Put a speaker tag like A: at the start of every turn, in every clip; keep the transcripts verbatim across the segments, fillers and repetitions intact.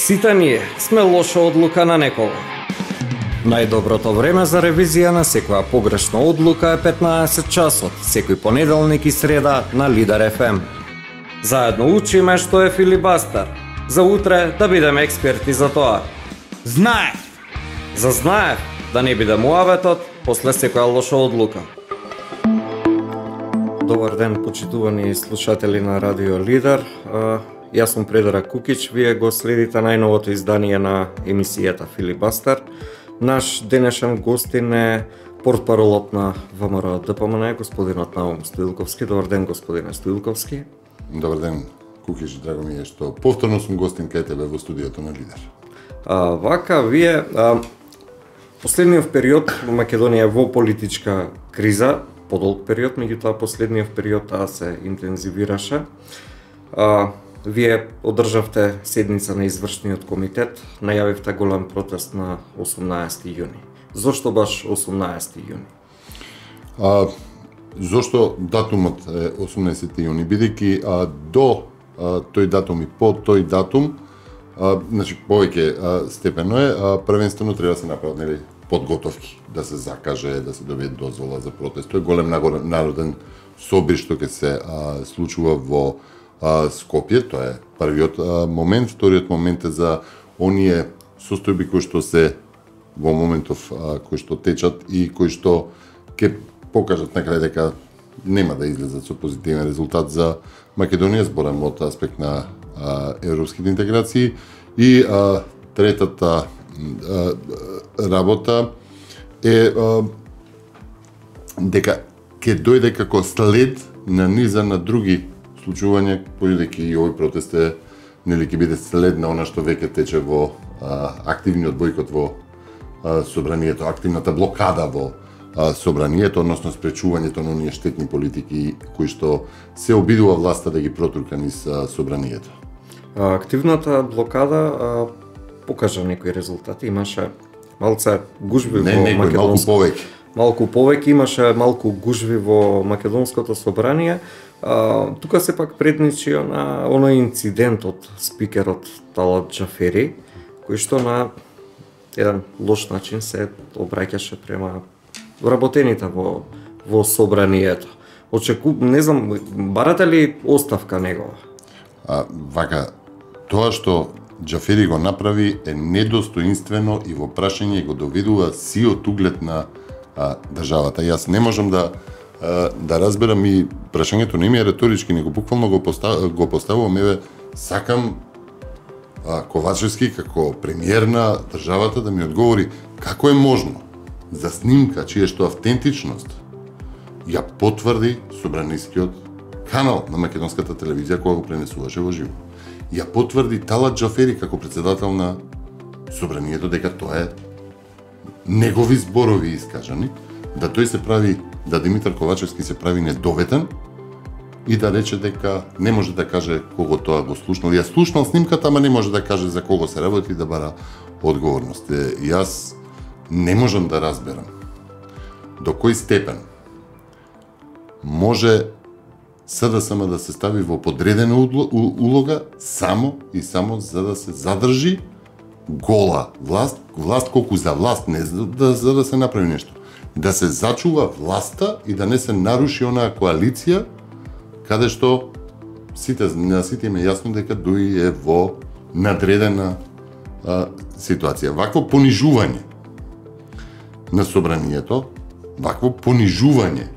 A: Сите ние сме лоша одлука на некого. Најдоброто време за ревизија на секоја погрешна одлука е петнаесет часот, секој понеделник и среда на Лидер еф ем. Заедно учиме што е филибастер. За утре да бидеме експерти за тоа.
B: Знаев!
A: За знаев да не биде муаветот после секоја лоша одлука. Добар ден, почитувани слушатели на Радио Лидер. Јас сум Предраг Кукич, вие го следите најновото издание на емисијата Филибастер. Наш денешен гостин е портпаролот на ВМРО Д П М Н, господинот Наум Стоилковски. Добар ден, господине Стоилковски.
C: Добар ден, Кукич, драго ми е што повторно сум гостин кај тебе во студиото на Лидер.
A: А, вака, вие а, последниот период во Македонија е во политичка криза, подолг период, меѓутоа последниот период таа се интензивираше. А, Вие одржавте седница на извршниот комитет, најавивте голем протест на осумнаесети јуни. Зошто баш осумнаесети јуни?
C: А, зошто датумот е осумнаесети јуни? Бидејќи а, до а, тој датум и по тој датум, а, значи повеќе а, степено е, а, првенствено треба да се направат нели подготовки, да се закаже, да се добие дозвола за протест. Тој е голем народен собир што ќе се а, случува во А, Скопје, тоа е првиот а, момент. Вториот момент е за оние состојби кои што се во моментов а, кои што течат и кои што ќе покажат на крај дека нема да излезат со позитивен резултат за Македонија, зборам од аспект на а, европските интеграции. И а, третата а, работа е а, дека ќе дојде како след на низа на други случување, бидејќи и овој протест е нели ќе биде след на она што веќе тече во а, активниот бојкот во а, собранието, активната блокада во а, собранието, односно спречувањето на оние штетни политики кои што се обидува власта да ги протурка низ а, собранието.
A: А, активната блокада а, покажа некои резултати, имаше малце гужви
C: не,
A: во
C: некој,
A: македонско...
C: малку повеќе.
A: Малку повеќе имаше малку гужви во македонското собрание. А, тука се пак предничи на оној инцидент од спикерот Талат Џафери, кој што на еден лош начин се обраќаше према вработените во во собранието. Очеку, не знам, барате ли оставка негова?
C: А, вака, тоа што Џафери го направи е недостоинствено и во прашање го доведува сиот углед на а, државата. Јас не можам да а, да разберам и прашањето не ми е реторички, него буквално го, постав, го поставувам, еве, сакам а, Ковачевски како премиер на државата да ми одговори како е можно за снимка чија што автентичност ја потврди собранискиот канал на македонската телевизија која го пренесуваше во живо. Ја потврди Талат Џафери како председател на собранието дека тоа е негови зборови искажани, да тој се прави, да Димитар Ковачевски се прави недоветен и да рече дека не може да каже кого тоа го слушнал. Ја слушнал снимката, ама не може да каже за кого се работи и да бара одговорност. Јас не можам да разберам до кој степен може С Д С М да се стави во подредена улога само и само за да се задржи гола власт, власт колку за власт, не за да, за да се направи нешто. Да се зачува власта и да не се наруши онаа коалиција каде што сите, на сите им е јасно дека дуи е во надредена а, ситуација. Вакво понижување на собранието, вакво понижување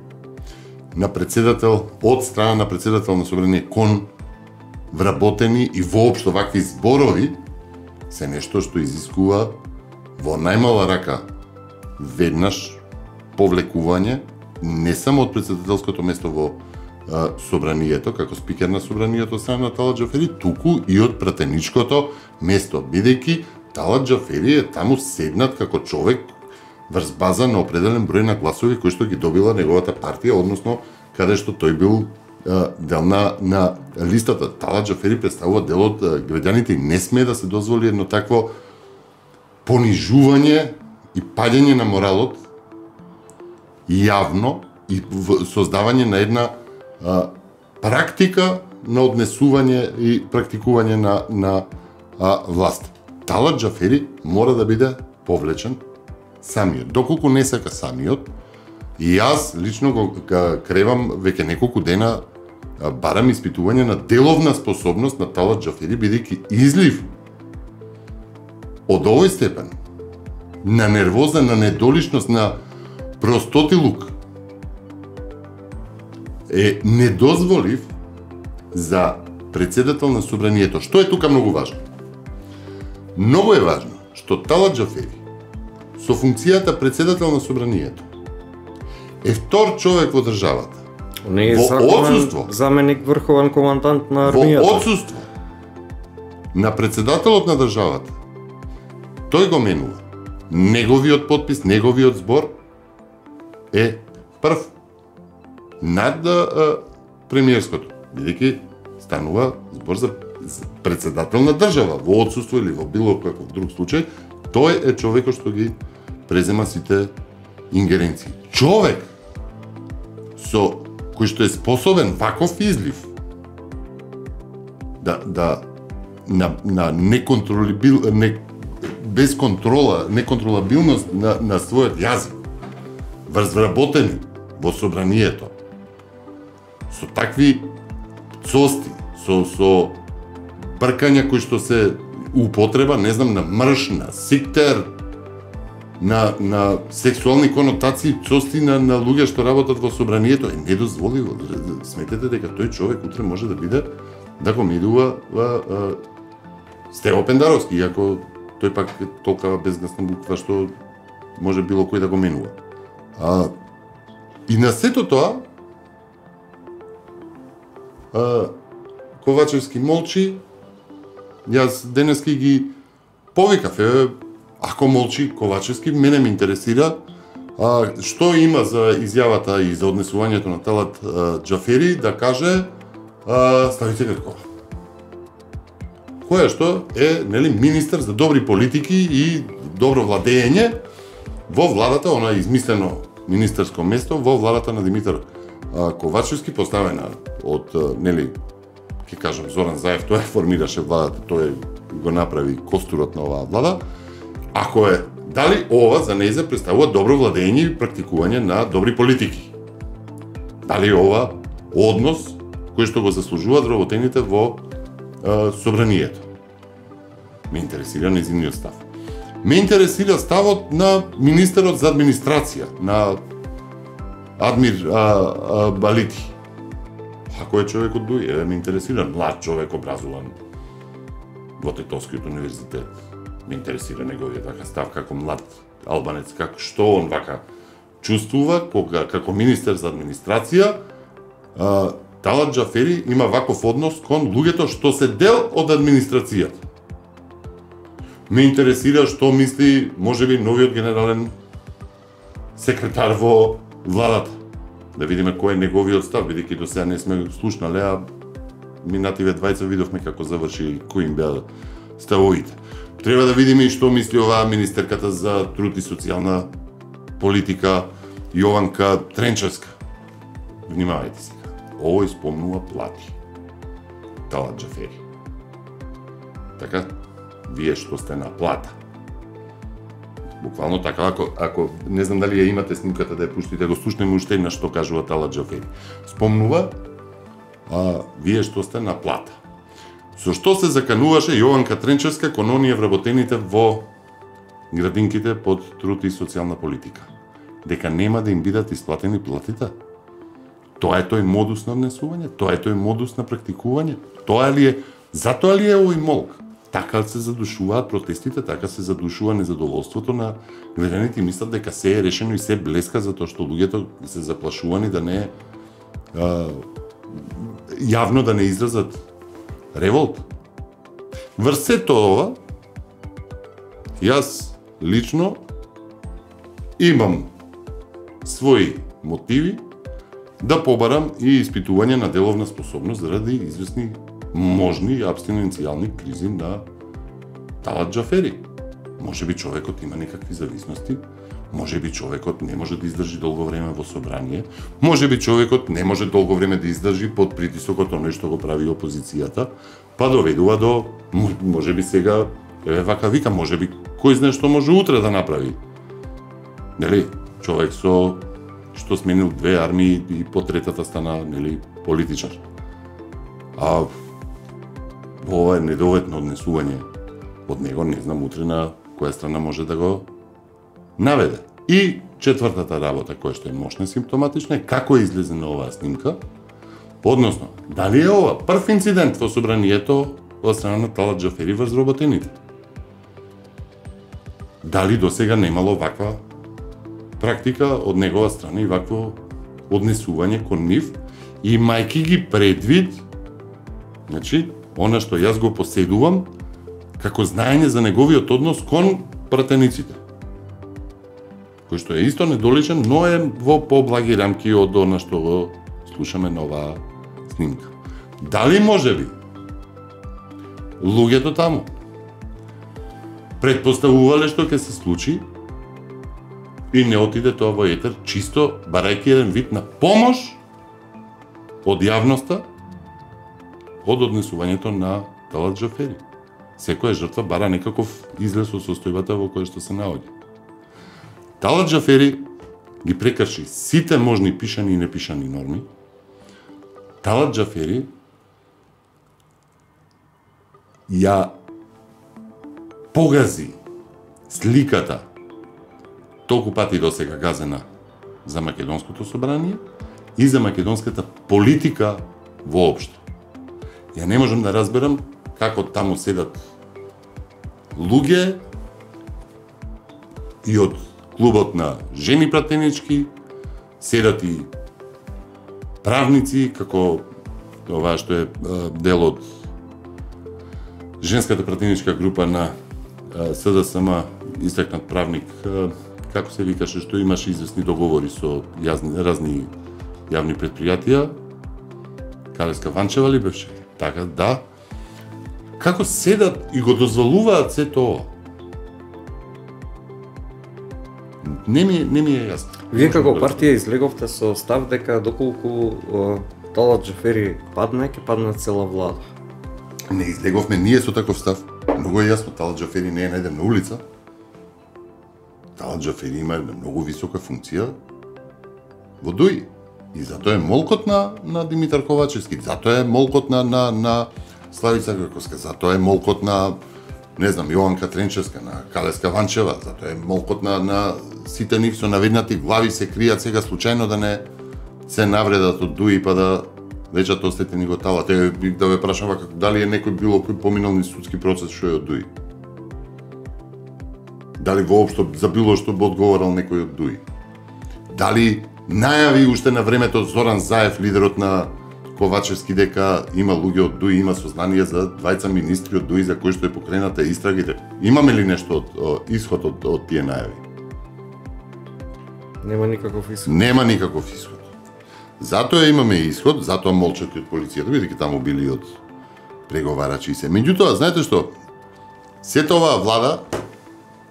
C: на председател, од страна на председател на собрание кон вработени и воопшто вакви зборови се нешто што изискува во најмала рака веднаш повлекување не само од председателското место во а, собранието, како спикер на собранието од страна на Талат Џафери, туку и од пратеничкото место, бидејќи Талат Џафери е таму седнат како човек врз база на определен број на гласови кои што ги добила неговата партија, односно каде што тој бил а, дел на, на листата. Талат Џафери представува дел од граѓаните и не смее да се дозволи едно такво понижување и паѓање на моралот јавно и создавање на една а, практика на однесување и практикување на, на а, власт. Талат Џафери мора да биде повлечен самиот. Доколку не сака самиот, и јас лично го кревам веќе неколку дена, барам испитување на деловна способност на Талат Џафери, бидејќи излив од овој степен на нервоза, на недоличност, на простотилук е недозволив за председател на собранието. Што е тука многу важно? Многу е важно што Талат Џафери со функцијата председател на собранието е втор човек во државата.
A: Не е
C: во
A: законен
C: одсуство,
A: заменик врховен командант на армијата.
C: Во одсуство на председателот на државата, тој го менува. Неговиот подпис, неговиот збор е прв над а, премиерското, бидејќи станува збор за председател на држава, во одсуство или во било каков друг случај, тој е човекот што ги презема сите ингеренции. Човек со кој што е способен ваков излив да да на на неконтролабил не без контрола, неконтролабилност на на својот јазик, вработени во собранието со такви цости, со со бркања кои што се употреба, не знам, на мрш, на сиктер, на на сексуални конотации, цости на на луѓе што работат во собранието, е недозволиво. Сметете дека тој човек утре може да биде да го медува Стево Пендаровски, иако тој пак е толкова безгасна буква што може било кој да го менува. А, и на сето тоа, а, Ковачевски молчи, јас денески ги повикав, е, ако молчи Ковачевски, мене ме интересира а, што има за изјавата и за однесувањето на Талат а, Џафери да каже а, Ставице Гркова, која што е, нели, министер за добри политики и добро владење во владата, она измислено министерско место во владата на Димитар а, Ковачевски, поставена од, а, нели, ќе кажам, Зоран Заев, тој формираше владата, тој го направи костурот на оваа влада. Ако е, дали ова за нејзе представува добро владење и практикување на добри политики? Дали ова однос кој што го заслужуваат вработените во е, собранието? Ме интересира нејзиниот став. Ме интересира ставот на министерот за администрација, на Адмир а, а, Балити. Ако е човек од Дуј, е, ме интересира млад човек образуван во Тетовскиот универзитет. Ме интересира неговиот така став како млад албанец, како што он вака чувствува кога како министер за администрација. А, Талат Џафери има ваков однос кон луѓето што се дел од администрацијата. Ме интересира што мисли можеби новиот генерален секретар во владата. Да видиме кој е неговиот став, бидејќи до сега не сме слушнале, а минативе двајца видовме како заврши и кои им беа ставовите. Треба да видиме и што мисли оваа министерката за труд и социјална политика Јованка Тренчевска. Внимавајте сега. Овој спомнува плати. Талат Џафери. Така, вие што сте на плата. Буквално така, ако, ако не знам дали ја имате снимката да ја пуштите, го слушнеме уште на што кажува Талат Џафери. Спомнува, а, вие што сте на плата. Со што се закануваше Јованка Тренчевска кон оние вработените во градинките под труд и социјална политика? Дека нема да им бидат исплатени платите? Тоа е тој модус на однесување? Тоа е тој модус на практикување? Тоа ли е, затоа ли е овој молк? Така се задушуваат протестите, така се задушува незадоволството на граѓаните и мислат дека се е решено и се блеска затоа што луѓето се заплашувани да не а, јавно да не изразат револт. Врз сето ова, јас лично имам своји мотиви да побарам и испитување на деловна способност заради известни можни абстиненцијални кризи на Талат Џафери. Може би човекот има некакви зависности, може би човекот не може да издржи долго време во собрание, може би човекот не може долго време да издржи под притисокот оној што го прави опозицијата, па доведува до, може би сега Еве вака вика, можеби кој знае што може утре да направи. Нели, човек со што сменил две армии и по третата стана, нели, политичар. А ова е недоведно однесување од него, не знам утре на која страна може да го наведе. И четвртата работа, која што е мощна симптоматична, е како е излезена оваа снимка, односно, дали е ова прв инцидент во собранието од страна на Талат Џафери врз вработените? Дали досега немало ваква практика од негова страна и вакво однесување кон нив, имајќи ги предвид, значи, она што јас го поседувам, како знаење за неговиот однос кон пратениците, кој што е исто недоличен, но е во поблаги рамки од она што го слушаме на оваа снимка. Дали можеби луѓето таму предпоставувале што ќе се случи и не отиде тоа во етер, чисто барајќи еден вид на помош од јавноста од однесувањето на Талат Џафери. Секоја жртва бара некаков излез од состојбата во која што се наоѓа. Талат Џафери ги прекрши сите можни пишани и непишани норми. Талат Џафери ја погази сликата толку пати досега газена за македонското собрание и за македонската политика воопшто. Ја не можам да разберам како таму седат луѓе и од клубот на жени пратенички, седат и правници, како ова што е дел од женската пратеничка група на СДСМ, истакнат правник, како се викаше, што имаше известни договори со јазни, разни јавни предпријатија, Калеска Ванчева ли беше? Така, да. Како седат и го дозволуваат се тоа? Не ми, не ми е јасно.
A: Вие како партија излеговте со став дека доколку Талат Џафери падне, ќе падне цела влада.
C: Не излеговме ние со таков став. Многу е јасно, Талат Џафери не е најден на улица. Талат Џафери има една многу висока функција во ДУИ. И затоа е молкот на, на Димитар Ковачевски, затоа е молкот на, на, на Славица Грковска, затоа е молкот на, не знам, Јованка Тренчевска, на Калеска Ванчева, затоа е молкот на, на сите нив со наведнати глави се кријат сега случајно да не се навредат од ДУИ па да речат остете ни го Талат. Е, да ве прашам вака, дали е некој било кој поминал ни судски процес што е од ДУИ? Дали воопшто за било што би одговорал некој од ДУИ? Дали најави уште на времето Зоран Заев, лидерот на Ковачевски, дека има луѓе од ДУИ, има сознание за двајца министри од ДУИ за кои што е покрената истрагите? Имаме ли нешто од, од исход од, од тие најави?
A: Нема никаков исход.
C: Нема никаков исход. Затоа имаме исход, затоа молчат и од полицијата, бидејќи таму били од преговарачи и се. Меѓутоа, знаете што? Сета оваа влада,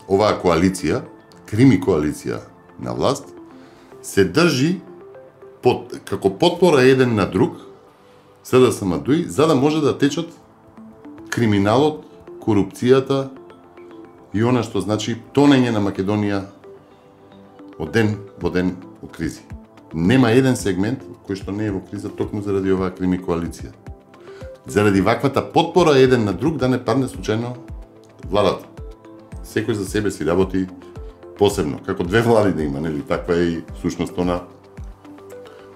C: оваа коалиција, крими коалиција на власт, се држи под, како потпора еден на друг, СДСМ ДУИ, за да може да течат криминалот, корупцијата и она што значи тонење на Македонија од ден во ден во кризи. Нема еден сегмент кој што не е во криза токму заради оваа крими коалиција. Заради ваквата потпора еден на друг да не падне случајно владата. Секој за себе си работи посебно, како две влади да има, нели? Таква е и сушност она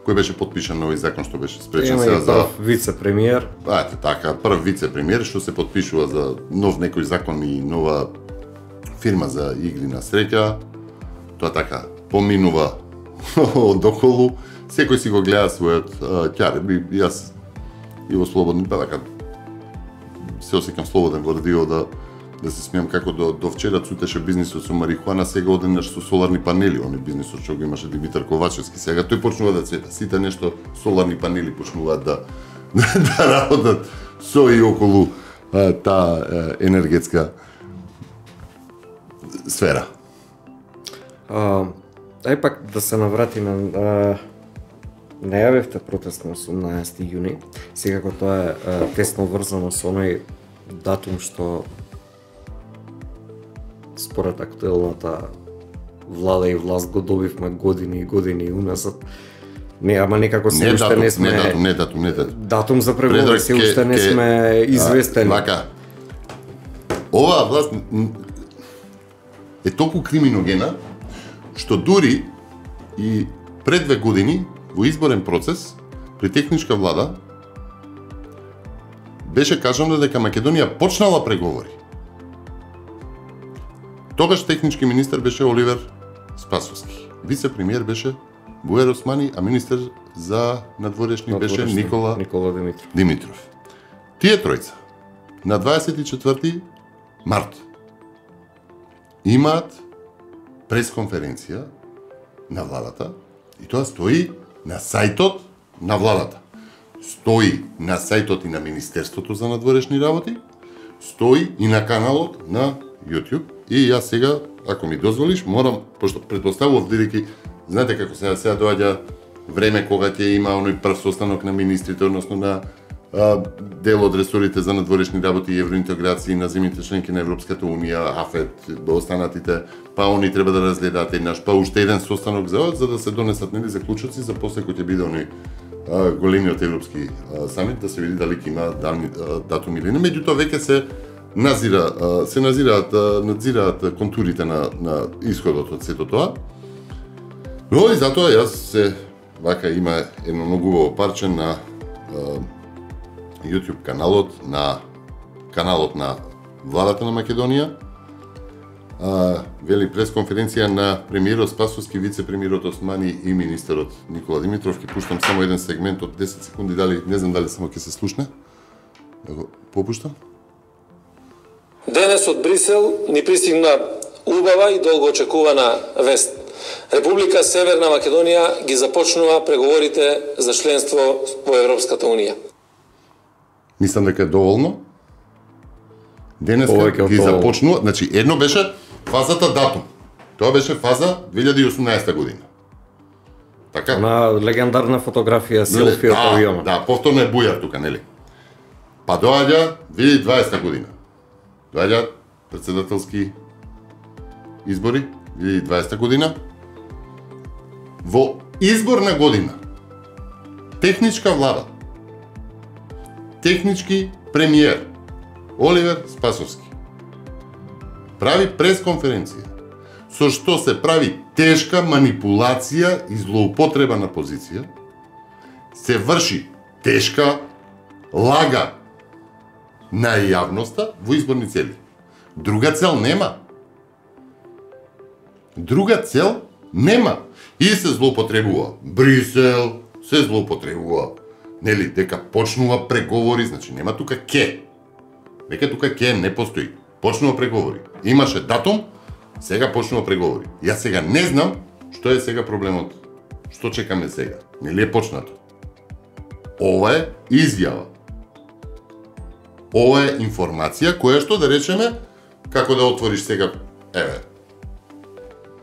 C: кој беше подпишан нови закон што беше спречен сега за
A: вице-премиер.
C: Ете така, прв вице-премиер што се подпишува за нов некој закон и нова фирма за игри на среќа. Тоа така поминува од околу, секој си го гледа својот ќар. Јас и во слободни, па така се осеќам слободен во радио да да се смеам како до, до вчера цутеше бизнисот со марихуана, сега одеднаш со соларни панели, оне бизнисот што го имаше Димитар Ковачевски. Сега тој почнува да цвета. Сите нешто соларни панели почнуваат да да работат со и околу а, таа а, енергетска сфера.
A: А, ај пак да се наврати на а, најавивте протест на осумнаесети јуни, секако тоа е а, тесно врзано со оној датум што според актуелната влада и власт го добивме години и години уназад. Не, ама некако се
C: не
A: уште
C: датум,
A: не сме...
C: Не датум, не датум, не датум.
A: Датум за преговори се уште не сме известени.
C: Вака, оваа власт е толку криминогена, што дури и пред две години во изборен процес при техничка влада беше кажано дека Македонија почнала преговори. Тогаш технички министер беше Оливер Спасовски. Вице-премиер беше Буер Османи, а министер за надворешни беше Никола,
A: Никола Димитров.
C: Димитров. Тие тројца на дваесет и четврти март имаат пресконференција на владата и тоа стои на сајтот на владата. Стои на сајтот и на Министерството за надворешни работи, стои и на каналот на YouTube. И јас сега, ако ми дозволиш, морам, пошто предпоставував бидејќи знаете како сега сега доаѓа време кога ќе има оној прв состанок на министрите, односно на а, дел од ресорите за надворешни работи и евроинтеграции на земјите членки на Европската унија, АФЕТ, останатите, па они треба да разгледаат еднаш, па уште еден состанок за за да се донесат нели заклучоци за после кој ќе биде оној големиот европски а, самит, да се види дали ќе има дан, а, датум или не. Меѓутоа веќе се назира, а, се назираат, а, надзираат контурите на, на исходот од сето тоа. Но и затоа јас се вака има едно многу убаво парче на а, YouTube каналот на каналот на владата на Македонија. А, вели пресконференција на премиерот Спасовски, вице-премиерот Османи и министерот Никола Димитров. Ќе пуштам само еден сегмент од десет секунди, дали не знам дали само ќе се слушне. Да го попуштам.
B: Денес од Брисел ни пристигна убава и долго очекувана вест. Република Северна Македонија ги започнува преговорите за членство во Европската унија.
C: Мислам дека е доволно. Денес ги започнува, значи едно беше фазата датум. Тоа беше фаза две илјади и осумнаесета година. Така?
A: На легендарна фотографија селфи од
C: да,
A: авионот.
C: Да, повторно е бујар тука, нели? Па доаѓа две илјади и дваесета година. Доаѓа председателски избори две илјади и дваесета година. Во изборна година техничка влада, технички премиер Оливер Спасовски прави пресконференција со што се прави тешка манипулација и злоупотреба на позиција, се врши тешка лага на јавноста во изборни цели. Друга цел нема. Друга цел нема. И се злоупотребува Брисел, се злоупотребува, нели, дека почнува преговори, значи нема тука ке. Веќе тука ке не постои. Почнува преговори. Имаше датум, сега почнува преговори. Јас сега не знам што е сега проблемот. Што чекаме сега? Нели е почнато? Ова е изјава. Ова е информација која што да речеме како да отвориш сега, еве,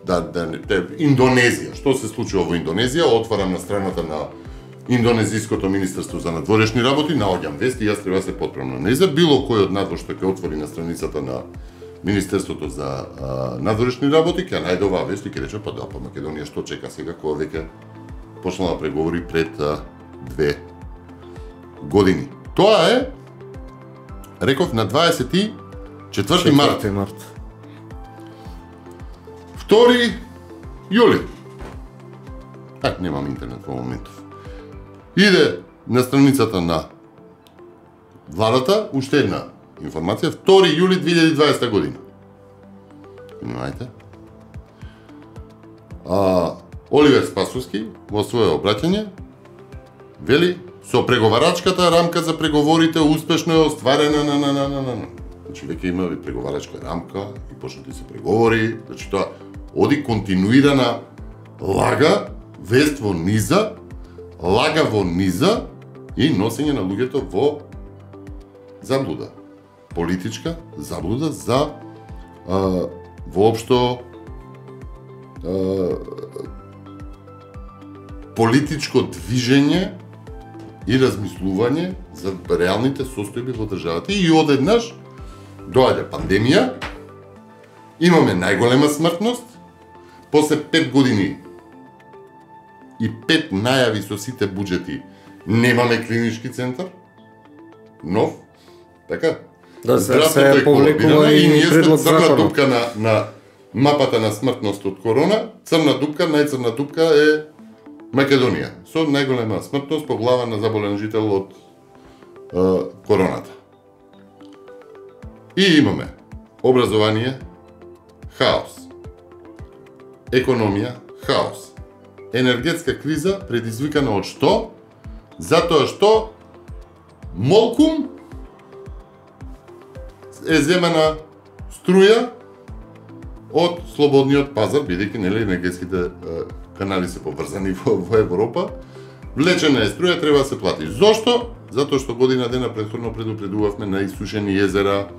C: да, да, да, Индонезија. Што се случува во Индонезија? Отварам на страната на Индонезиското министерство за надворешни работи, наоѓам вести, јас треба да се потправам. Не за било кој од надвор што ќе отвори на страницата на Министерството за а, надворешни работи, ќе најде оваа вест и ќе рече, па да, па Македонија што чека сега, кога веќе почнала преговори пред а, две години. Тоа е, реков, на дваесет и четврти март.
A: март.
C: втори јули. Так, немам интернет во моментов. Иде на страницата на владата уште една информација, втори јули две илјади и дваесета година. Внимајте. А, Оливер Спасовски во своје обраќање вели со преговарачката рамка за преговорите успешно е остварена на на на на на. Значи веќе има преговарачка рамка и почнати се преговори, значи тоа оди континуирана лага, вест во низа, лага во низа и носење на луѓето во заблуда. Политичка заблуда за а, воопшто а, политичко движење и размислување за реалните состојби во државата. И одеднаш доаѓа пандемија Имаме најголема смртност, после пет години и пет најави со сите буџети, немаме клинички центар, нов, така?
A: Да, се, се повлекува и предлог
C: црна дупка на, на мапата на смртност од корона, црна дупка, најцрна дупка е Македонија, со најголема смртност по глава на заболен жител од е, короната. И имаме образование, хаос, економија, хаос, енергетска криза предизвикана од што? Затоа што молкум е земена струја од слободниот пазар, бидејќи нели енергетските е, канали се поврзани во, во Европа, влечена е струја, треба да се плати. Зошто? Затоа што година дена претходно предупредувавме на исушени езера,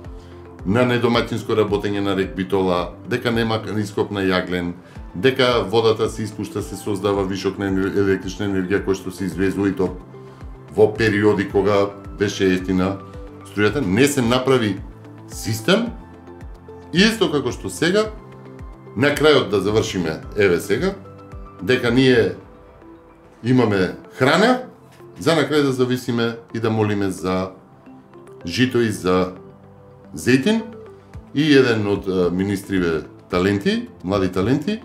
C: на недомаќинско работење на рек Битола, дека нема ископ на јаглен, дека водата се испушта, се создава вишок на електрична енергија која што се извезува и то во периоди кога беше ефтина струјата, не се направи систем, исто како што сега, на крајот да завршиме, еве сега, дека ние имаме храна, за на крај да зависиме и да молиме за жито и за зејтин, и еден од министриве таленти, млади таленти,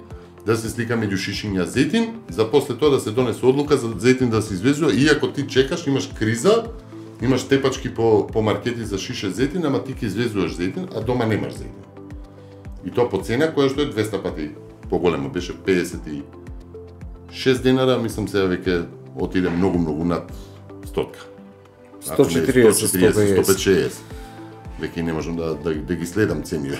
C: да се слика меѓу шишиња зејтин, за после тоа да се донесе одлука за зејтин да се извезува, иако ти чекаш, имаш криза, имаш тепачки по, по маркети за шише зејтин, ама ти ќе извезуваш зејтин, а дома немаш зејтин. И тоа по цена која што е двесте пати поголема, беше педесет и шест денара, мислам сега веќе отиде многу многу над стотка.
A: сто и четириесет, сто и
C: петдесет. Веќе не можам да, да, да ги следам цениве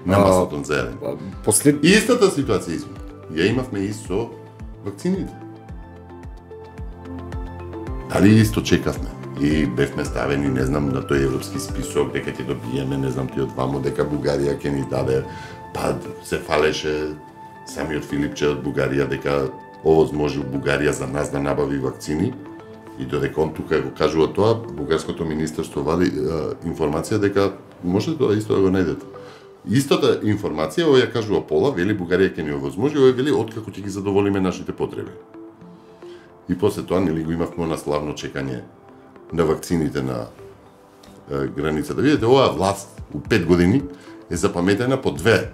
C: на масото за еден.
A: Послед...
C: Истата ситуација изме. Ја имавме и со вакцините. Дали исто чекавме? И бевме ставени, не знам, на тој европски список, дека ќе добиеме, не знам ти од вамо, дека Бугарија ќе ни даде, па се фалеше самиот Филипче од Бугарија, дека овозможил Бугарија за нас да набави вакцини, и додека он тука го кажува тоа, бугарското министерство вади е, информација дека може тоа исто да го најдете. Истата информација, овој ја кажува пола, вели Бугарија ќе ни овозможи, овој вели откако ќе ги задоволиме нашите потреби. И после тоа нели го имавме на славно чекање на вакцините на е, граница. Да видите, оваа власт у пет години е запаметена по две.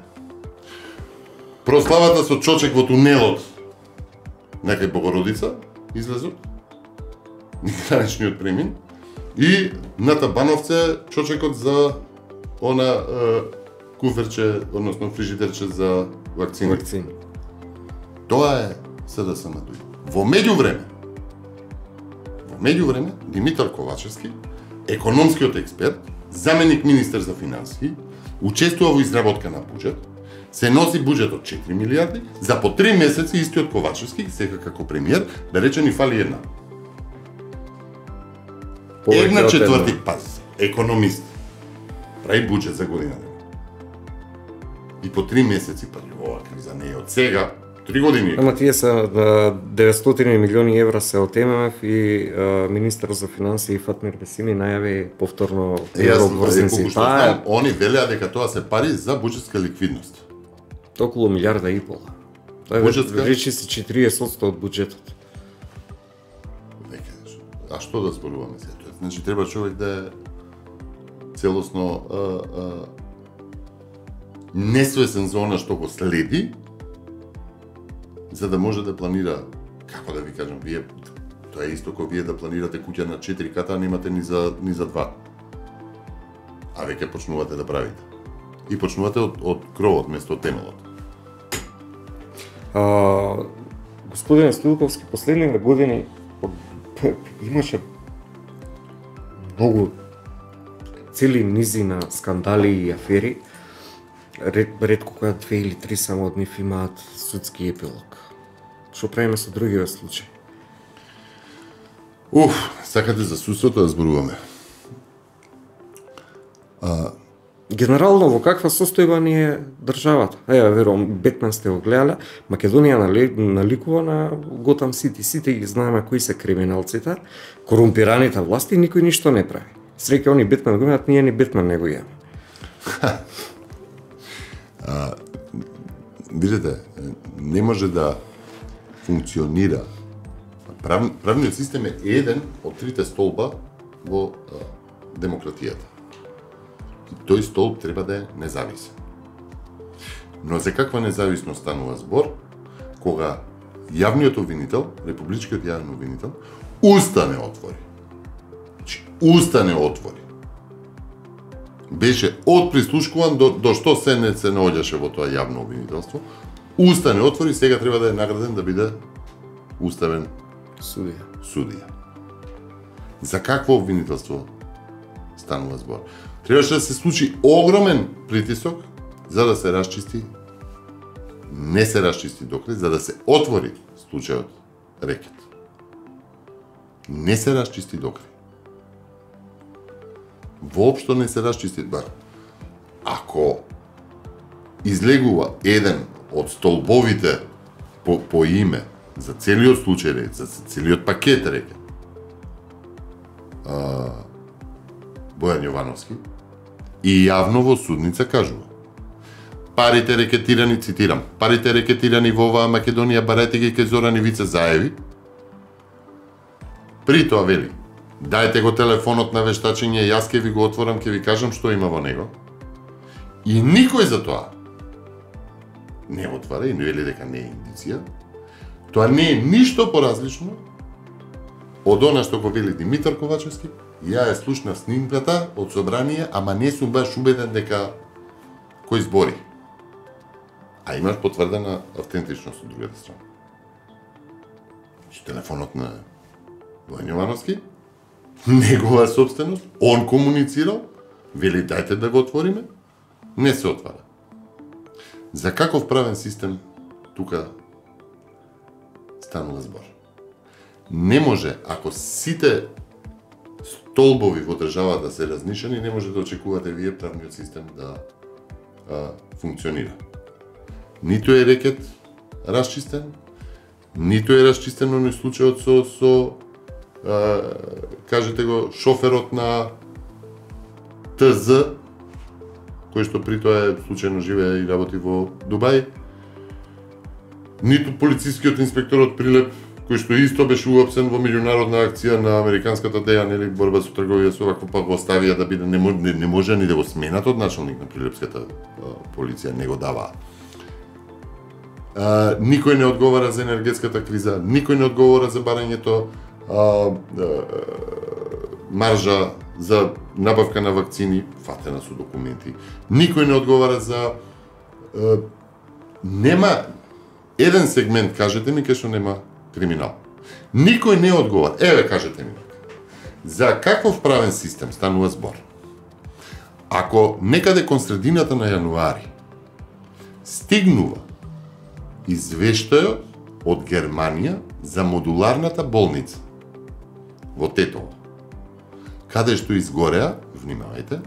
C: Прославата со чочек во тунелот на кај Богородица, излезот, граничниот премин, и на Табановце чочекот за она е, куферче, односно фрижидерче за вакцини.
A: Вакцини.
C: Тоа е СДСМ. Во меѓувреме, во меѓувреме, Димитар Ковачевски, економскиот експерт, заменик министер за финансии, учествува во изработка на буџет, се носи буџет од четири милиарди, за по три месеци истиот Ковачевски, сега како премиер, да рече ни фали една.
A: Повеќе
C: Една
A: од
C: четврти,
A: една.
C: паз, економист, прави буџет за година. И по три месеци, па ова криза не е од сега, три години.
A: Ама тие се а, деветстотини милиони евра се од ММФ и а, министер за финансии Фатмир Бесими најави повторно еврообврзници.
C: Таа е, они велеа дека тоа се пари за буџетска ликвидност.
A: околу милиарда и пола. Тоа е
C: Буџетска?
A: речи се четириесет одсто од буџетот.
C: Веќе, а што да зборуваме сега? Значи треба човек да е целосно а, а, несвесен за она што го следи, за да може да планира, како да ви кажам, вие тоа е исто како вие да планирате куќа на четири ката, а немате ни за ни за два. А веќе почнувате да правите. И почнувате од, од кровот место од темелот.
A: А, господин Стилковски, последниве години имаше многу цели низи на скандали и афери. Ред, ретко која две или три само од нив имаат судски епилог. Што правиме со другиве случаи?
C: Уф, сакате за судството да зборуваме. А,
A: Генерално во каква состојба ни е државата? Ева, верувам, Бетмен сте го гледале, Македонија нали, наликува на Готам Сити. Сите ги знаеме кои се криминалците, корумпираните власти, никој ништо не прави. Среќа они Бетмен го имаат, ние ни Бетмен не го имаме.
C: А, видите, не може да функционира. Прав, правниот систем е еден од трите столба во а, демократијата. И тој столб треба да е независен. Но за каква независност станува збор кога јавниот обвинител, републичкиот јавен обвинител, уста не отвори. Значи, уста не отвори. Беше од прислушкуван до, до што се не се наоѓаше во тоа јавно обвинителство. Уста не отвори, сега треба да е награден да биде уставен
A: Судија.
C: судија. За какво обвинителство станува збор? Требаше да се случи огромен притисок за да се расчисти, не се расчисти докрај, за да се отвори случајот рекет. Не се расчисти докрај. Воопшто не се расчисти. Ба, ако излегува еден од столбовите по, по име за целиот случај, за целиот пакет рекет, а, Бојан Јовановски, и јавно во судница кажува: парите рекетирани, цитирам, парите рекетирани во оваа Македонија барете ги кај Зоран Ивица Заеви. При тоа вели: дајте го телефонот на вештачење, јас ќе ви го отворам, ќе ви кажам што има во него. И никој за тоа не отвара и не вели дека не е индиција. Тоа не е ништо поразлично од она што го вели Димитар Ковачевски. Ја е слушнав снимката од собрание, ама не сум баш убеден дека кој збори. А имаш потврдена автентичност од другата страна. Телефонот на Бојан Јовановски, негова собственост, он комуницирал, вели дајте да го отвориме, не се отвара. За каков правен систем тука станува збор? Не може, ако сите столбови во држава да се разнишени, не може да очекувате вие правниот систем да а, функционира. Ниту е рекет расчистен, ниту е расчистен оној случајот со, со а, кажете го, шоферот на ТЗ, кој што при тоа е случајно живее и работи во Дубај, ниту полицискиот инспектор од Прилеп, кој што исто беше уапсен во меѓународна акција на американската ДЕА, нели, борба со трговија со вакво, па го оставија да биде, не, не, не може ни да го сменат од началник на Прилепската а, полиција, не го даваа. А, никој не одговара за енергетската криза, никој не одговара за барањето а, а, маржа за набавка на вакцини, фатена со документи. Никој не одговара за а, нема еден сегмент, кажете ми, кај што нема криминал. Никој не одговара. Еве, кажете ми. За каков правен систем станува збор? Ако некаде кон средината на јануари стигнува извештајот од Германија за модуларната болница во Тетово, каде што изгореа, внимавајте,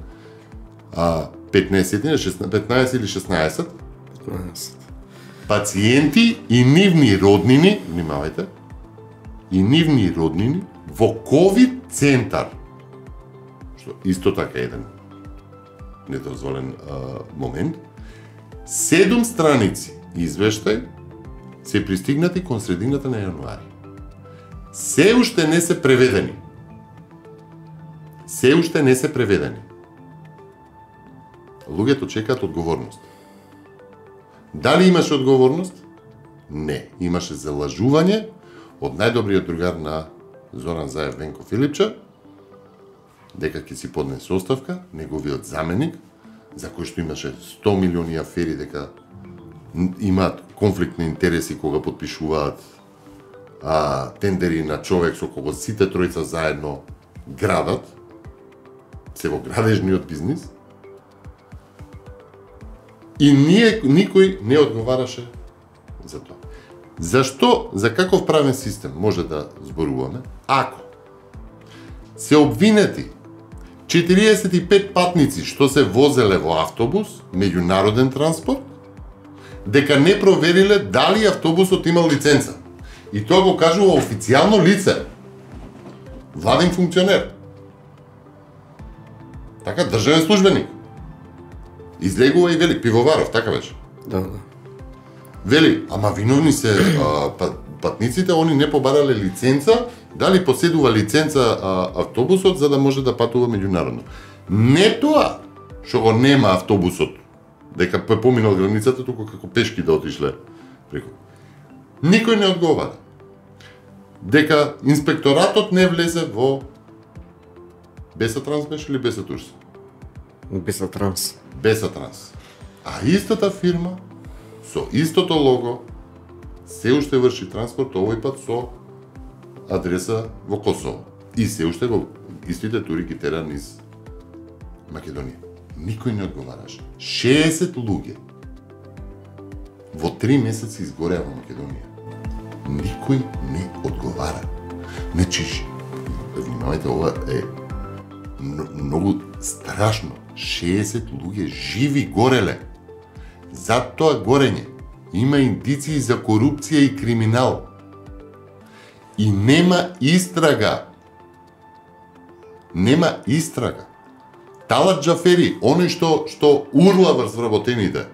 C: а петнаесет, петнаесет или шеснаесет пациенти и нивни роднини, внимавајте, и нивни роднини во ковид центар, што исто така еден недозволен а, момент, седум страници извештај се пристигнати кон средината на јануари. Се уште не се преведени. Се уште не се преведени. Луѓето чекаат одговорност. Дали имаше одговорност? Не. Имаше залажување од најдобриот другар на Зоран Заев, Венко Филипча, дека ќе си поднесе оставка, неговиот заменик, за кој што имаше сто милиони афери, дека имаат конфликт на интереси кога подпишуваат а, тендери на човек со кого сите тројца заедно градат, се во градежниот бизнис. И ние, никој не одговараше за тоа. Зашто, за каков правен систем може да зборуваме, ако се обвинети четириесет и пет патници што се возеле во автобус, меѓународен транспорт, дека не провериле дали автобусот имал лиценца. И тоа го кажува официјално лице, владин функционер. Така, државен службеник. Излегува и вели Пивоваров, така беше.
A: Да, да.
C: Вели, ама виновни се а, пат, патниците, они не побарале лиценца, дали поседува лиценца а, автобусот за да може да патува меѓународно. Не тоа што го нема автобусот, дека поминал границата, туку како пешки да отишле преку. Никој не одговара. Дека инспекторатот не влезе во Бесатранс беше или Бесатурс?
A: Бесатранс.
C: Бесатранс. А истата фирма со истото лого се уште врши транспорт, овој пат со адреса во Косово. И се уште го истите тури ги тера низ Македонија. Никој не одговараше. шеесет луѓе во три месеци изгореа во Македонија. Никој не одговара. Значи, внимавајте, ова е многу страшно. шеесет луѓе живи гореле. За тоа горење има индиции за корупција и криминал. И нема истрага. Нема истрага. Талат Џафери, оној што што урла врз вработените,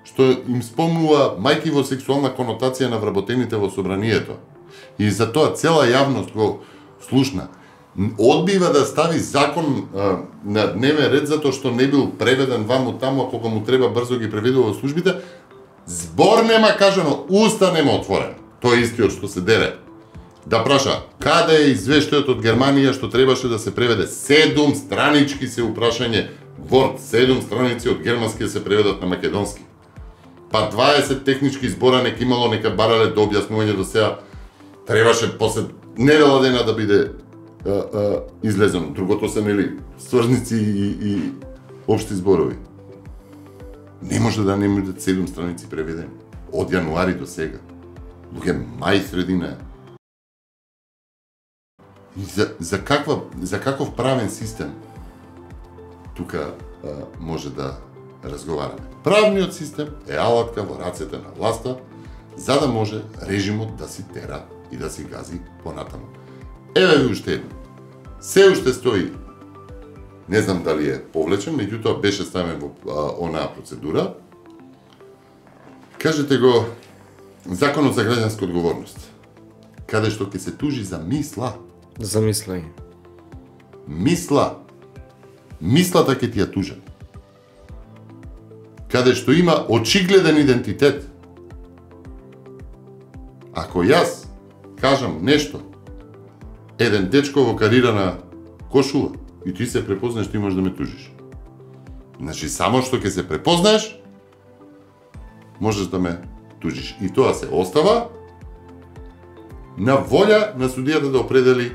C: што им спомнува мајки во сексуална конотација на вработените во собранието. И за тоа цела јавност го слушна. Одбива да стави закон а, на дневен ред затоа што не бил преведен ваму таму, а кога му треба брзо ги преведува во службите. Збор нема кажано, уста нема отворен. Тој истиот што се дере. Да праша, каде е извештајот од Германија што требаше да се преведе? Седум странички се упрашање, Word, седум страници од германски да се преведат на македонски. Па дваесет технички збора нека имало, нека барале до објаснување до сега. Требаше после недела дена да биде а, а, излезено. Другото се, нели, сврзници и, и општи зборови. Не може да не бидат седум страници преведени. Од јануари до сега. Луѓе, мај средина. И за, за, каква, за каков правен систем тука а, може да разговараме. Правниот систем е алатка во рацете на власта за да може режимот да си тера и да си гази понатаму. Еве ви уште едно. Се уште стои, не знам дали е повлечен, меѓутоа беше ставен во а, онаа процедура. Кажете го Законот за граѓанска одговорност, каде што ќе се тужи за мисла.
A: Замислај.
C: Мисла. Мислата ќе ти ја тужат. Каде што има очигледен идентитет. Ако јас кажам нешто, еден дечко во карирана кошула и ти се препознаеш, ти можеш да ме тужиш. Значи, само што ќе се препознаеш, можеш да ме тужиш. И тоа се остава на волја на судијата да определи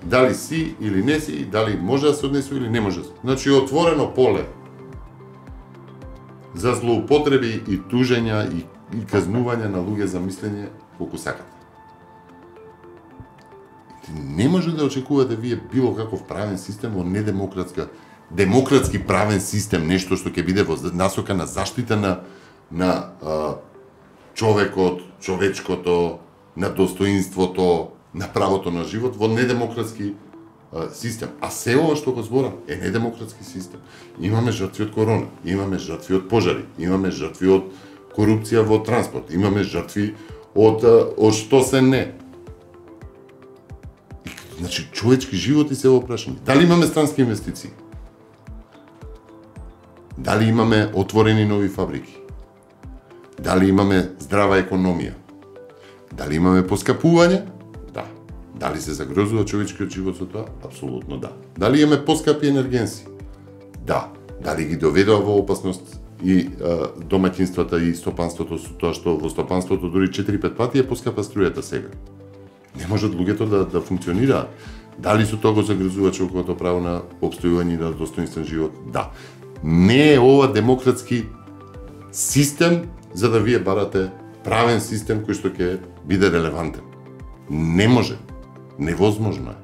C: дали си или не си, дали може да се однесува или не може да се. Значи, отворено поле за злоупотреби и тужења и, и казнување на луѓе за мислење колку сакате. Не може да очекувате вие било каков правен систем во недемократска, демократски правен систем, нешто што ќе биде во насока на заштита на на а, човекот, човечкото, на достоинството, на правото на живот во недемократски а, систем. А се ова што го зборам е недемократски систем. Имаме жртви од корона, имаме жртви од пожари, имаме жртви од корупција во транспорт, имаме жртви од, од што се не. Значи, човечки животи се во прашање. Дали имаме странски инвестиции? Дали имаме отворени нови фабрики? Дали имаме здрава економија? Дали имаме поскапување? Да. Дали се загрозува човечкиот живот со тоа? Апсолутно да. Дали имаме поскапи енергенси? Да. Дали ги доведува во опасност и а, домаќинствата и стопанството со тоа што во стопанството дури четири-пет пати е поскапа струјата сега? Не можат луѓето да, да функционираат. Дали со тоа го загрозува човековото право на опстојување и на достоинствен живот? Да. Не е ова демократски систем за да вие барате правен систем кој што ќе биде релевантен. Не може. Невозможно е.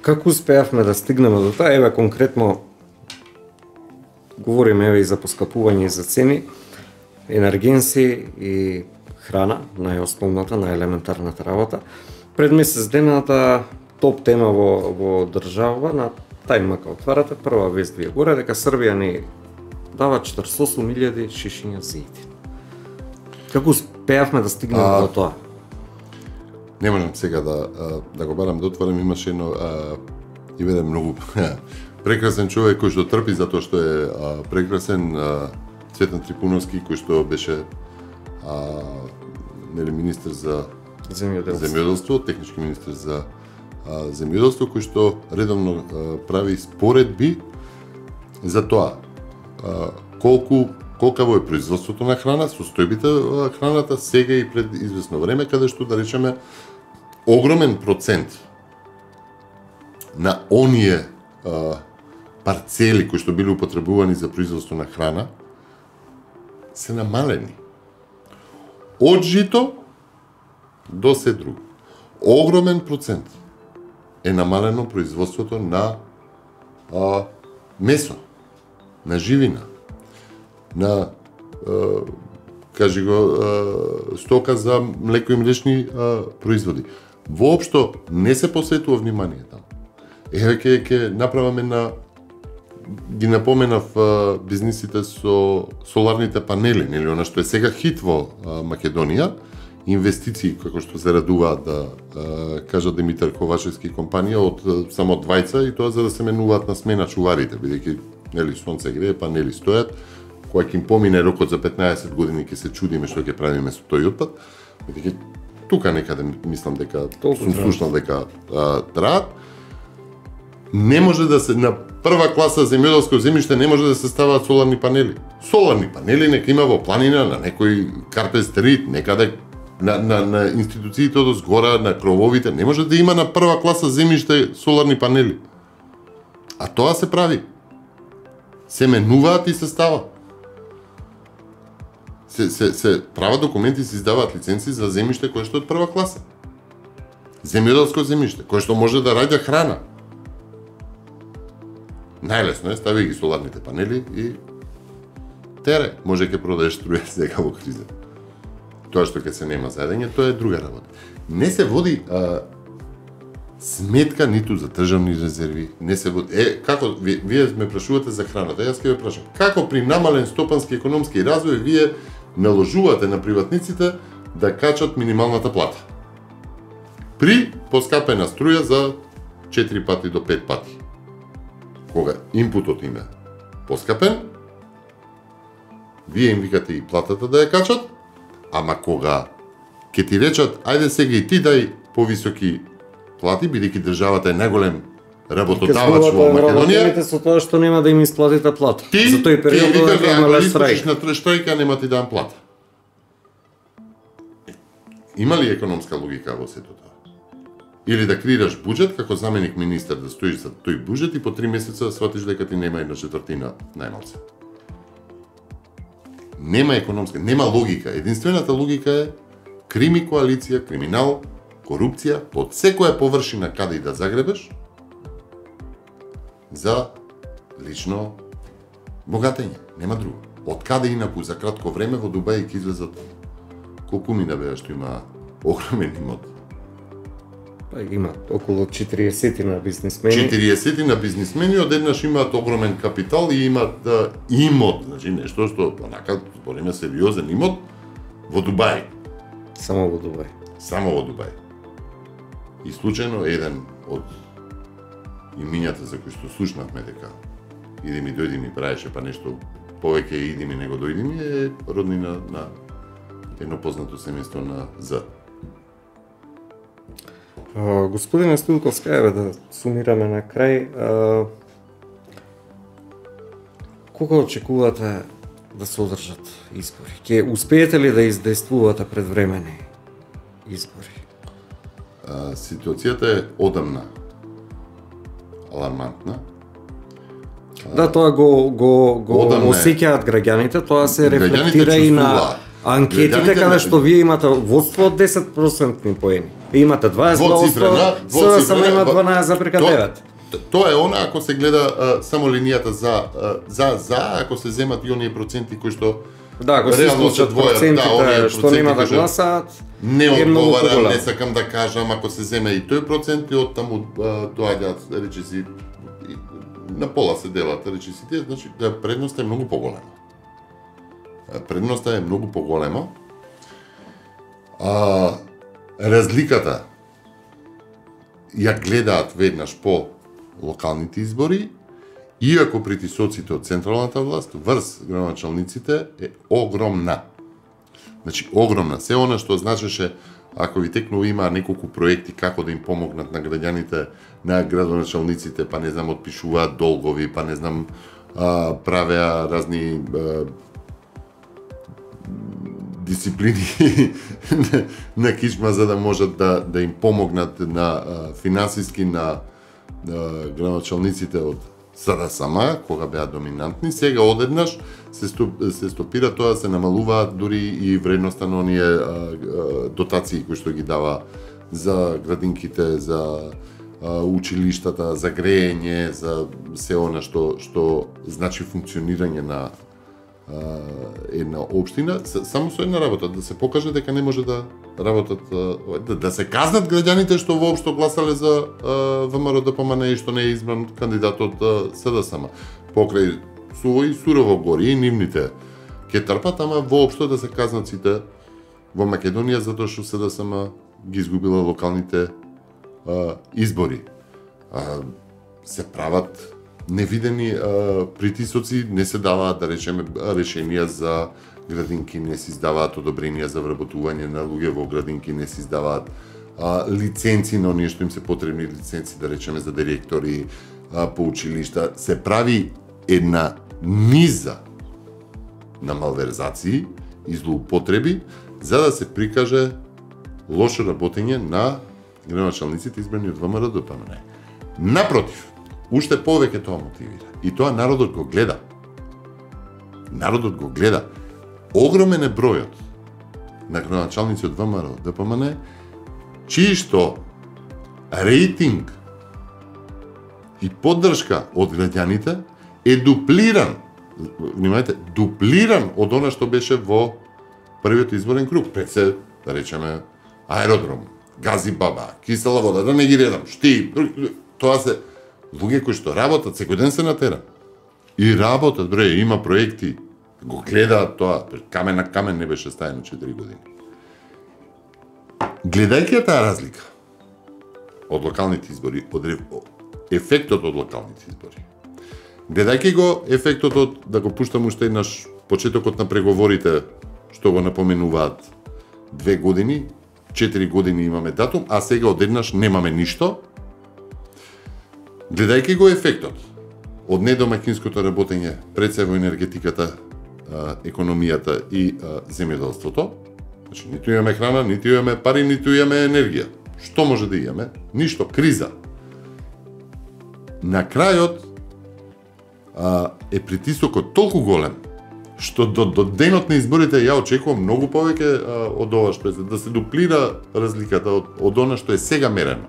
A: Како успеавме да стигнеме до тоа? Еве конкретно говориме еве и за поскапување и за цени, енергенси и храна, најосновната, најелементарната работа. Пред месец дената топ тема во, во држава на тајмака отварате, прва вест ви е горе дека Србија ни дава четиридесет и осум илјади шишиња зејтин. Како успеавме да стигнеме а, до тоа?
C: Не можам сега да да го барам да отворам, имаше едно а, и веде многу прекрасен човек кој што трпи затоа што е а, прекрасен, а, Цветан Трипуновски, кој што беше а, нели министер за
A: земјоделство,
C: земјоделство технички министер за а, земјоделство, кој што редовно а, прави споредби за тоа а, колку колкаво е производството на храна, состојбите на храната сега и пред известно време, каде што да речеме огромен процент на оние а, парцели кои што биле употребувани за производство на храна се намалени. Од жито до се друго. Огромен процент е намалено производството на а, месо, на живина, на а, кажи го а, стока за млеко и млечни а, производи. Воопшто не се посветува внимание таму. Еве ке ке направаме на ги напоменав а, бизнисите со соларните панели, нели она што е сега хит во а, Македонија, инвестиции како што се радуваат да а, кажа Димитар Ковачевски компанија од а, само двајца, и тоа за да се менуваат на смена чуварите, бидејќи нели сонце грее, панели стојат, кога ќе им помине рокот за петнаесет години ќе се чудиме што ќе правиме со тој отпад, бидејќи тука некаде мислам дека
A: Толку
C: сум слушнал дека траат. Не може да се на прва класа земјоделско земјиште не може да се ставаат соларни панели. Соларни панели нека има во планина, на некој Карпет стрит, некаде на, на, на институциите од згора, на крововите, не може да има на прва класа земјиште соларни панели. А тоа се прави. Се менуваат и се стават. Се, се, се прават документи, се издаваат лиценци за земјиште кое што е од прва класа. Земјоделско земјиште, кое што може да раѓа храна. Најлесно е, стави ги соларните панели и тере, може ќе продаеш струја сега во криза. Тоа што ќе се нема заедење, тоа е друга работа. Не се води а, сметка ниту за државни резерви, не се води. Е, како вие, вие ме прашувате за храната, јас ќе ве прашам. Како при намален стопански економски развој вие наложувате на приватниците да качат минималната плата? При поскапена струја за четири пати до пет пати. Кога инпутот им е поскапен, вие им викате и платата да ја качат, ама кога ќе ти речат, ајде сега и ти дај повисоки плати, бидејќи државата е најголем работодавач во Македонија,
A: со тоа што нема да им исплатите плата.
C: Ти,
A: за тој период
C: ти викаш,
A: да имале штрајк.
C: на штрајка нема ти дам плата. Има ли економска логика во сето тоа? Или да креираш буџет како заменик министер, да стоиш за тој буџет и по три месеца сватиш дека ти нема една четвртина најмалце. Нема економска, нема логика. Единствената логика е крими коалиција, криминал, корупција, од секоја површина каде и да загребеш, за лично богатење. Нема друго. Од каде инаку за кратко време во Дубај ќе излезат колку мина беа што има огромен имот.
A: Па има околу четириесет на бизнисмени.
C: четириесет на бизнисмени одеднаш имаат огромен капитал и имаат да, имот, значи нешто што онака збориме сериозен имот во Дубај.
A: Само во Дубај.
C: Само во Дубај. И случајно еден од имињата за кои што слушнавме дека иди ми дојди ми правеше па нешто повеќе иди ми него дојди ми е роднина на едно познато семејство на З.
A: Uh, господине Стилковска, еве да сумираме на крај. Uh, кога очекувате да се одржат избори? Ќе успеете ли да издействувате предвремени избори?
C: Uh, ситуацијата е одамна алармантна.
A: Uh, да, тоа го го го осеќаат граѓаните, тоа се рефлектира и на анкетите каде што вие имате водство од десет проценти поени. Имате дваесет проценти, сега само има дванаесет запирка девет.
C: Тоа е она ако се гледа а, само линијата за а, за за ако се земат и оние проценти кои што
A: да, ако се случат процентите да, што нема да гласаат,
C: не одговара, не сакам да кажам, ако се земе и тој процент и од таму доаѓаат речиси на пола се делат речисите, значи да предноста е многу поголема. Предноста е многу поголема. А, разликата ја гледаат веднаш по локалните избори, иако притисоците од централната власт врз градоначалниците е огромна. Значи, огромна. Се она што значеше, ако ви текнува има неколку проекти како да им помогнат на граѓаните, на градоначалниците, па не знам, отпишуваат долгови, па не знам, а, правеа разни а, дисциплини на кичма за да можат да, да им помогнат на а, финансиски на а, градоначалниците од СДСМ, кога беа доминантни. Сега одеднаш се, стоп, се стопира тоа, се намалуваат дури и вредноста на оние а, а, дотации кои што ги дава за градинките, за а, училиштата, за грејење, за се она што што значи функционирање на а, една општина, само со една работа, да се покаже дека не може да работат, да, да се казнат граѓаните што воопшто гласале за ВМРО ДПМН и што не е избран кандидат од СДСМ. Покрај суво и сурово гори и нивните ќе трпат, ама воопшто да се казнат сите во Македонија затоа што СДСМ ги изгубила локалните а, избори. А, се прават невидени а, притисоци, не се даваат, да речеме, решенија за градинки, не се издаваат одобренија за вработување на луѓе во градинки, не се издаваат а, лиценци на оние што им се потребни лиценци, да речеме, за директори а, по училишта. Се прави една низа на малверзации и злоупотреби за да се прикаже лошо работење на градоначалниците избрани од ВМРО ДПМН. Напротив, уште повеќе тоа мотивира. И тоа народот го гледа. Народот го гледа. Огромен е бројот на градоначалници од ВМРО ДПМН, чии што рейтинг и поддршка од граѓаните е дуплиран, внимајте, дуплиран од она што беше во првиот изборен круг. Пред се, да речеме, аеродром, гази баба, кисела вода, да не ги редам, шти, тоа се луѓе кои што работат, секој ден се на терен. И работат, бре, има проекти, го гледаат тоа, камен на камен не беше стаено четири години. Гледајќи таа разлика од локалните избори, од ефектот од локалните избори, гледајќи го ефектот од, да го пуштам уште еднаш, почетокот на преговорите, што го напоменуваат две години, четири години имаме датум, а сега одеднаш немаме ништо, гледајќи го ефектот од недомаќинското работење пред се во енергетиката, економијата и земјоделството, значи ниту имаме храна, ниту имаме пари, ниту имаме енергија. Што може да имаме? Ништо, криза. На крајот а, е притисокот толку голем што до, до денот на изборите ја очекувам многу повеќе а, од ова што да се дуплира разликата од, од она што е сега мерено.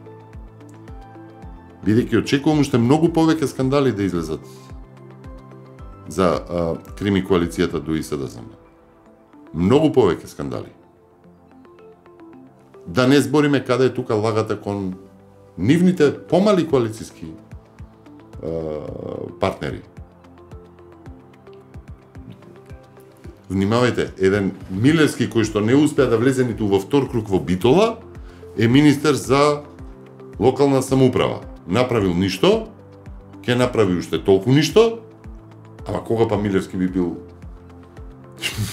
C: Бидејќи очекувам уште многу повеќе скандали да излезат за а, крими коалицијата ДУИ СДСМ. Многу повеќе скандали. Да не збориме каде е тука лагата кон нивните помали коалицијски а, партнери. Внимавајте, еден Милевски кој што не успеа да влезе ниту во втор круг во Битола е министер за локална самоуправа. Направил ништо, ќе направи уште толку ништо, ама кога па Милевски би бил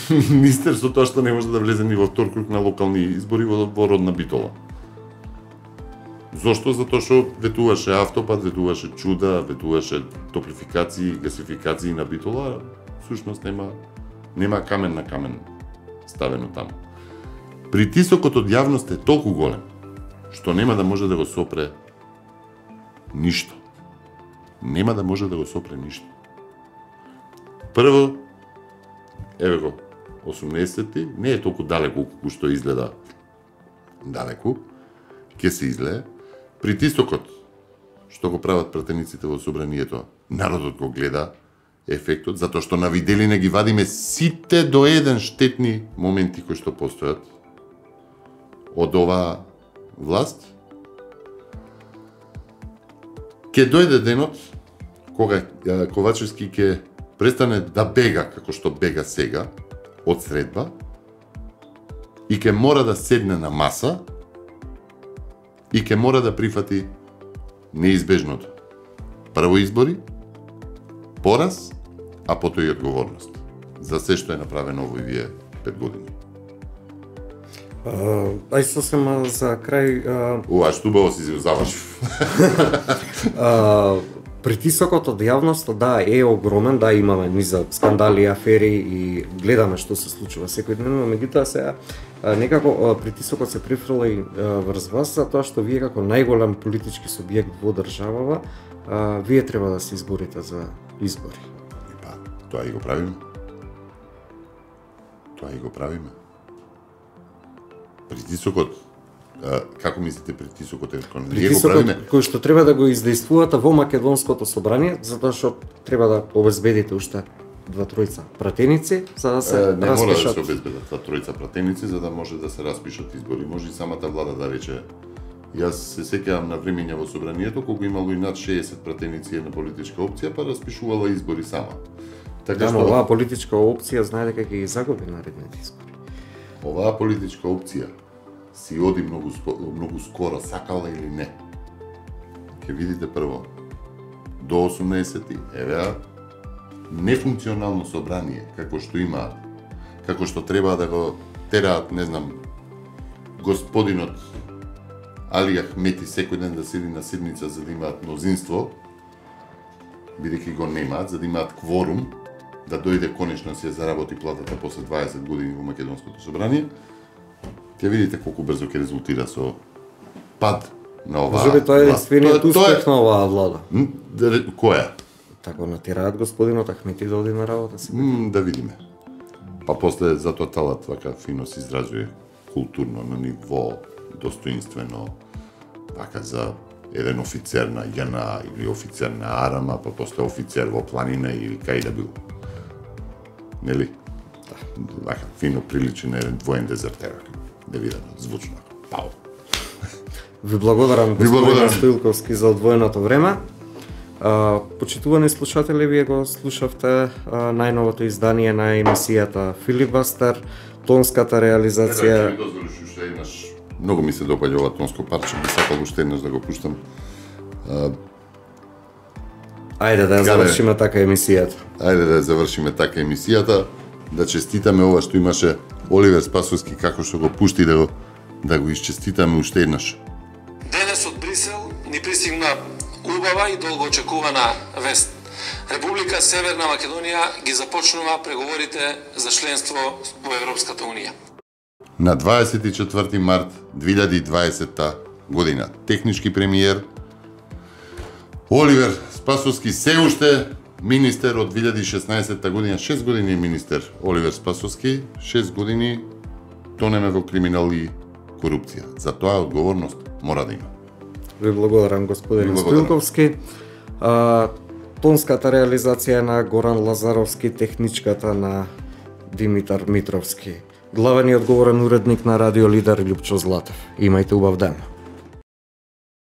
C: министер со тоа што не може да влезе ни во втор круг на локални избори во, во родна Битола. Зошто? Затоа што ветуваше автопат, ветуваше чуда, ветуваше топлификации, гасификации на Битола, всушност нема нема камен на камен ставено таму. Притисокот од јавност е толку голем што нема да може да го сопре ништо. Нема да може да го сопре ништо. Прво, еве го, осумнаесетти, не е толку далеку колку што изгледа далеку, ќе се излее. Притисокот што го прават пратениците во собранието, народот го гледа ефектот, затоа што на виделина ги вадиме сите до еден штетни моменти кои што постојат од оваа власт. Ке дојде денот кога а, Ковачевски ќе престане да бега како што бега сега од средба и ќе мора да седне на маса и ќе мора да прифати неизбежното. Прво избори, пораз, а потоа и одговорност за се што е направено овој вие пет години.
A: Uh, ај сосема за крај... Uh...
C: Ова, што убаво си завршив.
A: uh, притисокот од јавноста, да, е огромен, да, имаме низа скандали, афери и гледаме што се случува секојдневно, меѓутоа сега некако uh, притисокот се префрла и uh, врз вас, за тоа што вие како најголем политички субјект во државава, uh, вие треба да се изборите за избори.
C: И па, тоа и го правиме. Тоа и го правиме. Притисокот, а, како мислите притисокот е кон ние го правиме?
A: Кој што треба да го издействувате во Македонското собрание, затоа што треба да обезбедите уште два тројца пратеници за да се
C: е, не
A: распишат.
C: мора да се обезбедат два тројца пратеници за да може да се распишат избори. Може и самата влада да рече. Јас се сеќавам на времења во собранието кога имало и над шеесет пратеници една политичка опција, па распишувала избори сама.
A: Така да, што оваа политичка опција знае дека ќе ги загуби наредните избори.
C: Оваа политичка опција си оди многу многу скоро, сакала или не. Ќе видите прво до осумнаесети, еве нефункционално собрание како што имаат, како што треба да го тераат, не знам, господинот Али Ахмети секој ден да седи на седница за да имаат мнозинство, бидејќи го немаат, за да имаат кворум, да дојде конечно си ја заработи платата после дваесет години во Македонското собрание, ќе видите колку брзо ќе резултира со пад на оваа.
A: Може би тоа е единствениот успех на оваа влада.
C: Која?
A: Тако натираат господинот Ахмети да оди на работа си.
C: М, да видиме. Па после затоа талат вака фино се изразува културно на ниво достоинствено, вака за еден офицер на ЈНА или офицер на Арама, па после офицер во планина или кај да бил. Нели? Да. Вака фино приличи на еден двоен дезертер. Да видам звучно. Пау.
A: Ви благодарам господин Стоилковски за одвоеното време. А, почитувани слушатели, вие го слушавте а, најновото издание на емисијата Филибастер, тонската реализација.
C: Не, да, дозволиш уште еднаш. Многу ми се допаѓа ова тонско парче, би сакал уште еднаш да го пуштам. А...
A: Ајде да ја завршиме така емисијата.
C: Ајде да ја завршиме така емисијата, да честитаме ова што имаше Оливер Спасовски како што го пушти да го да го исчеститаме уште еднаш.
B: Денес од Брисел ни пристигна убава и долго очекувана вест. Република Северна Македонија ги започнува преговорите за членство во Европската Унија.
C: На дваесет и четврти март две илјади и дваесета година технички премиер Оливер Спасовски се уште министер од две илјади и шеснаесета година, шест години министер Оливер Спасовски, шест години тонеме во криминал и корупција. За тоа одговорност мора да има.
A: Ви благодарам господин Стоилковски. А, тонската реализација на Горан Лазаровски, техничката на Димитар Митровски. Главен и одговорен уредник на Радио Лидер Љупчо Златев. Имајте убав ден.